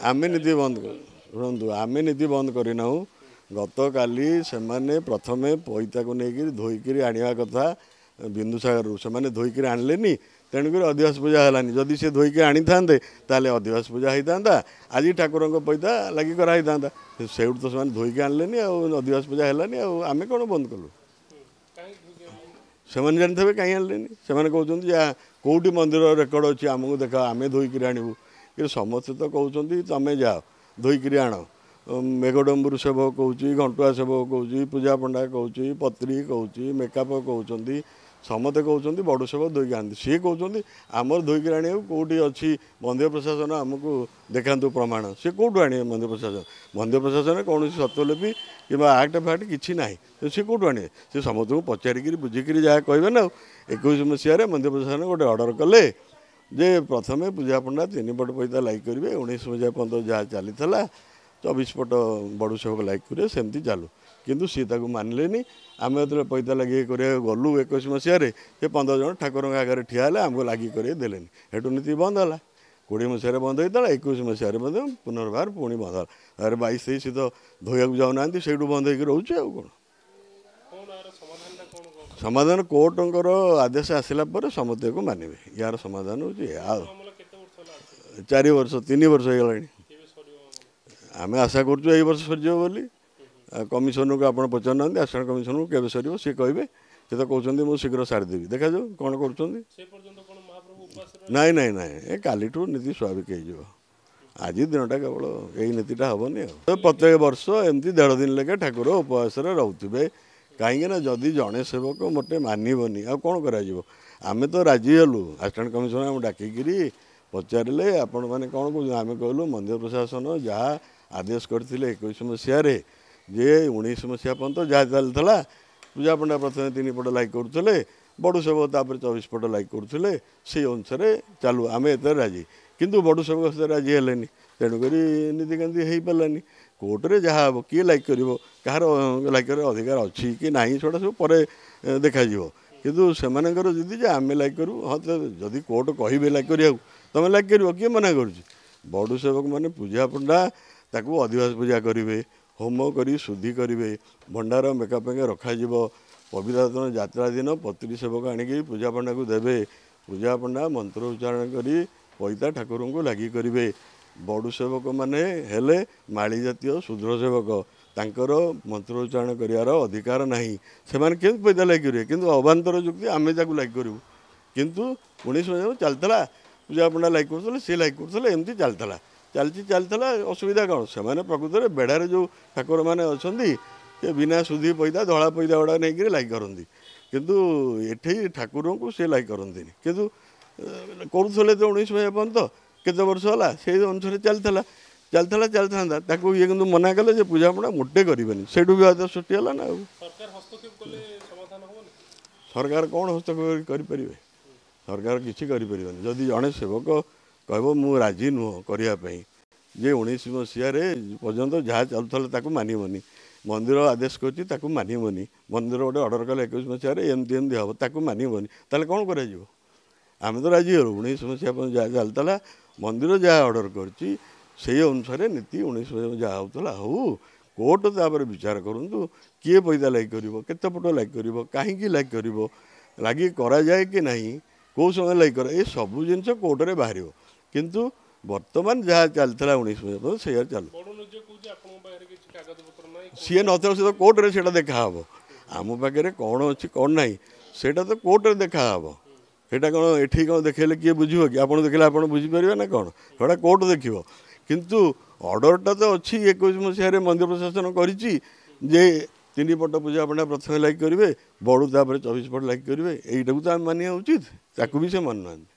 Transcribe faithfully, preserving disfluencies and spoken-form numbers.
ଆମେ ନୀତି ବନ୍ଦ ଶୁଣନ୍ତୁ, ଆମେ ନୀତି ବନ୍ଦ କରିନାହୁଁ। ଗତକାଲି ସେମାନେ ପ୍ରଥମେ ପଇତାକୁ ନେଇକିରି ଧୋଇକିରି ଆଣିବା କଥା ବିନ୍ଦୁସାଗରରୁ, ସେମାନେ ଧୋଇକିରି ଆଣିଲେନି, ତେଣୁକରି ଅଧିବାସ ପୂଜା ହେଲାନି। ଯଦି ସେ ଧୋଇକି ଆଣିଥାନ୍ତେ ତାହେଲେ ଅଧିବାସ ପୂଜା ହେଇଥାନ୍ତା, ଆଜି ଠାକୁରଙ୍କ ପଇତା ଲାଗି କରାହେଇଥାନ୍ତା। ସେଇଠୁ ତ ସେମାନେ ଧୋଇକି ଆଣିଲେନି ଆଉ ଅଧିବାସ ପୂଜା ହେଲାନି, ଆଉ ଆମେ କ'ଣ ବନ୍ଦ କଲୁ? ସେମାନେ ଜାଣିଥିବେ କାହିଁ ଆଣିଲେନି। ସେମାନେ କହୁଛନ୍ତି ଯେ କେଉଁଠି ମନ୍ଦିର ରେକର୍ଡ଼ ଅଛି ଆମକୁ ଦେଖ, ଆମେ ଧୋଇକିରି ଆଣିବୁ। କିନ୍ତୁ ସମସ୍ତେ ତ କହୁଛନ୍ତି ତମେ ଯାଅ ଧୋଇକିରି ଆଣ। ମେଘଡମ୍ବୁରୁ ସେବକ କହୁଛି, ଘଣ୍ଟୁଆ ସେବକ କହୁଛି, ପୂଜା ପଣ୍ଡା କହୁଛି, ପତ୍ରୀ କହୁଛି, ମେକାପ କହୁଛନ୍ତି, ସମସ୍ତେ କହୁଛନ୍ତି ବଡ଼ୁ ସେବକ ଧୋଇକି ଆଣନ୍ତି। ସିଏ କହୁଛନ୍ତି ଆମର ଧୋଇକିରି ଆଣିବାକୁ କେଉଁଠି ଅଛି ମନ୍ଦିର ପ୍ରଶାସନ ଆମକୁ ଦେଖାନ୍ତୁ ପ୍ରମାଣ। ସିଏ କେଉଁଠୁ ଆଣିବେ ମନ୍ଦିର ପ୍ରଶାସନ? ମନ୍ଦିର ପ୍ରଶାସନରେ କୌଣସି ସତ୍ୱଲିପି କିମ୍ବା ଆକ୍ଟ ଫାକ୍ଟ କିଛି ନାହିଁ, ତ ସିଏ କେଉଁଠୁ ଆଣିବେ? ସେ ସମସ୍ତଙ୍କୁ ପଚାରିକିରି ବୁଝିକିରି ଯାହା କହିବେ ନା। ଆଉ ଏକୋଇଶ ମସିହାରେ ମନ୍ଦିର ପ୍ରଶାସନ ଗୋଟେ ଅର୍ଡ଼ର କଲେ ଯେ ପ୍ରଥମେ ପୂଜା ପଣ୍ଡା ତିନି ପଟ ପଇତା ଲାଗି କରିବେ, ଉଣେଇଶ ମସିହା ପର୍ଯ୍ୟନ୍ତ ଯାହା ଚାଲିଥିଲା ଚବିଶ ପଟ ବଡ଼ୁ ସେବକ ଲାଗି କରିବେ, ସେମିତି ଚାଲୁ। କିନ୍ତୁ ସିଏ ତାକୁ ମାନିଲେନି। ଆମେ ଯେତେବେଳେ ପଇତା ଲାଗି କରିବାକୁ ଗଲୁ ଏକୋଇଶ ମସିହାରେ, ସେ ପନ୍ଦର ଜଣ ଠାକୁରଙ୍କ ଆଗରେ ଠିଆ ହେଲେ, ଆମକୁ ଲାଗି କରିବାକୁ ଦେଲେନି। ହେଠୁ ନୀତି ବନ୍ଦ ହେଲା। କୋଡ଼ିଏ ମସିହାରେ ବନ୍ଦ ହେଇଥିଲା, ଏକୋଇଶ ମସିହାରେ ମଧ୍ୟ ପୁନର୍ବାର ପୁଣି ବନ୍ଦ ହେଲା। ତାପରେ ବାଇଶ ତେଇଶ ତ ଧୋଇବାକୁ ଯାଉନାହାନ୍ତି, ସେଇଠୁ ବନ୍ଦ ହେଇକି ରହୁଛି। ଆଉ କ'ଣ ସମାଧାନ? କୋର୍ଟଙ୍କର ଆଦେଶ ଆସିଲା ପରେ ସମସ୍ତେ ମାନିବେ। ୟାର ସମାଧାନ ହେଉଛି ଆଉ ଚାରି ବର୍ଷ ତିନି ବର୍ଷ ହେଇଗଲାଣି। ଆମେ ଆଶା କରୁଛୁ ଏଇ ବର୍ଷ ସରିଯିବ ବୋଲି। କମିଶନକୁ ଆପଣ ପଚାରୁନାହାନ୍ତି, ଆସିଷ୍ଟାଣ୍ଟ କମିଶନକୁ କେବେ ସରିବ ସିଏ କହିବେ। ସେ ତ କହୁଛନ୍ତି ମୁଁ ଶୀଘ୍ର ସାରିଦେବି, ଦେଖାଯାଉ କ'ଣ କରୁଛନ୍ତି। ନାଇଁ ନାଇଁ ନାଇଁ, ଏ କାଲିଠୁ ନୀତି ସ୍ୱାଭାବିକ ହେଇଯିବ। ଆଜି ଦିନଟା କେବଳ ଏଇ ନୀତିଟା ହେବନି। ଆଉ ପ୍ରତ୍ୟେକ ବର୍ଷ ଏମିତି ଦେଢ଼ ଦିନ ଲେଖା ଠାକୁର ଉପବାସରେ ରହୁଥିବେ। କାହିଁକିନା ଯଦି ଜଣେ ସେବକ ମୋଟେ ମାନିବନି ଆଉ କ'ଣ କରାଯିବ? ଆମେ ତ ରାଜି ହେଲୁ, ଆସିଷ୍ଟାଣ୍ଟ କମିଶନର ଆମକୁ ଡାକିକିରି ପଚାରିଲେ ଆପଣମାନେ କ'ଣ କହୁଛନ୍ତି? ଆମେ କହିଲୁ ମନ୍ଦିର ପ୍ରଶାସନ ଯାହା ଆଦେଶ କରିଥିଲେ ଏକୋଇଶ ମସିହାରେ, ଯେ ଉଣେଇଶ ମସିହା ପର୍ଯ୍ୟନ୍ତ ଯାହା ଚାଲିଥିଲା, ପୂଜା ପଣ୍ଡା ପ୍ରଥମେ ତିନି ପଟ ଲାଗି କରୁଥିଲେ, ବଡ଼ୁ ସେବକ ତାପରେ ଚବିଶ ପଟ ଲାଗି କରୁଥିଲେ, ସେଇ ଅନୁସାରେ ଚାଲୁ, ଆମେ ଏଥିରେ ରାଜି। କିନ୍ତୁ ବଡ଼ୁ ସେବକ ସେଥିରେ ରାଜି ହେଲେନି, ତେଣୁକରି ନୀତିକାନ୍ତି ହେଇପାରିଲାନି। କୋର୍ଟରେ ଯାହା ହେବ, କିଏ ଲାଗି କରିବ, କାହାର ଲାଗି କରିବାର ଅଧିକାର ଅଛି କି ନାହିଁ, ସେଗୁଡ଼ା ସବୁ ପରେ ଦେଖାଯିବ। କିନ୍ତୁ ସେମାନଙ୍କର ଯଦି ଯେ ଆମେ ଲାଗି କରିବୁ, ହଁ ଯଦି କୋର୍ଟ କହିବେ ଲାଗି କରିବାକୁ ତୁମେ ଲାଗି କରିବ, କିଏ ମନା କରୁଛି? ବଡ଼ୁ ସେବକମାନେ ପୂଜା ପଣ୍ଡା ତାକୁ ଅଧିବାସ ପୂଜା କରିବେ, ହୋମ କରି ଶୁଦ୍ଧି କରିବେ, ଭଣ୍ଡାର ମେକାପ ରଖାଯିବ। ପବିତ୍ର ଯାତ୍ରା ଦିନ ପତ୍ରୀ ସେବକ ଆଣିକି ପୂଜା ପଣ୍ଡାକୁ ଦେବେ, ପୂଜା ପଣ୍ଡା ମନ୍ତ୍ର ଉଚ୍ଚାରଣ କରି ପଇତା ଠାକୁରଙ୍କୁ ଲାଗି କରିବେ। ବଡ଼ୁ ସେବକମାନେ ହେଲେ ମାଳି ଜାତୀୟ ଶୂଦ୍ର ସେବକ, ତାଙ୍କର ମନ୍ତ୍ର ଉଚ୍ଚାରଣ କରିବାର ଅଧିକାର ନାହିଁ। ସେମାନେ କେମିତି ପଇତା ଲାଗି କରିବେ? କିନ୍ତୁ ଅବାନ୍ତର ଯୁକ୍ତି ଆମେ ତାକୁ ଲାଗି କରିବୁ। କିନ୍ତୁ ଉଣେଇଶ ମସିହାରୁ ଚାଲିଥିଲା, ପୂଜା ପଣ୍ଡା ଲାଗି କରୁଥିଲେ, ସିଏ ଲାଗି କରୁଥିଲେ, ଏମିତି ଚାଲିଥିଲା, ଚାଲିଛି ଚାଲିଥିଲା। ଅସୁବିଧା କ'ଣ? ସେମାନେ ପ୍ରକୃତରେ ବେଢ଼ାରେ ଯେଉଁ ଠାକୁରମାନେ ଅଛନ୍ତି ସେ ବିନା ସୁଧି ପଇତା ଧଳା ପଇତା ଗୁଡ଼ା ନେଇକିରି ଲାଗି କରନ୍ତି, କିନ୍ତୁ ଏଠି ଠାକୁରଙ୍କୁ ସେ ଲାଗି କରନ୍ତିନି। କିନ୍ତୁ କରୁଥିଲେ ତ ଉଣେଇଶ ମସିହା ପର୍ଯ୍ୟନ୍ତ, କେତେ ବର୍ଷ ହେଲା ସେଇ ଅନୁସାରେ ଚାଲିଥିଲା, ଚାଲିଥିଲା, ଚାଲିଥାନ୍ତା। ତାକୁ ଇଏ କିନ୍ତୁ ମନା କଲେ ଯେ ପୂଜା ପଣା ମୋଟେ କରିବେନି, ସେଇଠୁ ବିବାଦ ସୃଷ୍ଟି ହେଲା ନା। ଆଉ ସରକାର କ'ଣ ହସ୍ତକ୍ଷେପ କରିପାରିବେ? ସରକାର କିଛି କରିପାରିବେନି। ଯଦି ଜଣେ ସେବକ କହିବ ମୁଁ ରାଜି ନୁହଁ କରିବା ପାଇଁ, ଯେ ଉଣେଇଶ ମସିହାରେ ପର୍ଯ୍ୟନ୍ତ ଯାହା ଚାଲୁଥିଲା ତାକୁ ମାନିବନି, ମନ୍ଦିର ଆଦେଶ କରୁଛି ତାକୁ ମାନିବନି, ମନ୍ଦିର ଗୋଟେ ଅର୍ଡ଼ର କଲେ ଏକୋଇଶ ମସିହାରେ ଏମିତି ଏମିତି ହେବ ତାକୁ ମାନିବନି, ତାହେଲେ କ'ଣ କରାଯିବ? ଆମେ ତ ରାଜି ହେଲୁ। ଉଣେଇଶ ମସିହା ପର୍ଯ୍ୟନ୍ତ ଯାହା ଚାଲିଥିଲା, ମନ୍ଦିର ଯାହା ଅର୍ଡ଼ର କରିଛି ସେଇ ଅନୁସାରେ ନୀତି ଉଣେଇଶ ମସିହା ଯାହା ହେଉଥିଲା ହଉ। କୋର୍ଟ ତାପରେ ବିଚାର କରନ୍ତୁ କିଏ ପଇତା ଲାଗି କରିବ, କେତେ ପଟ ଲାଗି କରିବ, କାହିଁକି ଲାଗି କରିବ, ଲାଗି କରାଯାଏ କି ନାହିଁ, କେଉଁ ସମୟରେ ଲାଗି କରା, ଏ ସବୁ ଜିନିଷ କୋର୍ଟରେ ବାହାରିବ। କିନ୍ତୁ ବର୍ତ୍ତମାନ ଯାହା ଚାଲିଥିଲା ଉଣେଇଶ ମସିହା ପର୍ଯ୍ୟନ୍ତ ସେଇଆ ଚାଲୁ। ସିଏ ନଥିଲା ସେ ତ କୋର୍ଟରେ ସେଇଟା ଦେଖାହେବ। ଆମ ପାଖରେ କ'ଣ ଅଛି କ'ଣ ନାହିଁ ସେଇଟା ତ କୋର୍ଟରେ ଦେଖାହେବ। ସେଇଟା କ'ଣ ଏଠି କ'ଣ ଦେଖେଇଲେ କିଏ ବୁଝିବ କି? ଆପଣ ଦେଖିଲେ ଆପଣ ବୁଝିପାରିବେ ନା କ'ଣ? ସେଇଟା କୋର୍ଟ ଦେଖିବ। କିନ୍ତୁ ଅର୍ଡ଼ରଟା ତ ଅଛି ଏକୋଇଶ ମସିହାରେ ମନ୍ଦିର ପ୍ରଶାସନ କରିଛି ଯେ ତିନି ପଟ ପୂଜା ପଣ୍ଡା ପ୍ରଥମେ ଲାଗି କରିବେ, ବଡ଼ୁ ତାପରେ ଚବିଶ ପଟ ଲାଗି କରିବେ। ଏଇଟାକୁ ତ ଆମେ ମାନିବା ଉଚିତ, ତାକୁ ବି ସେ ମାନୁନାହାନ୍ତି।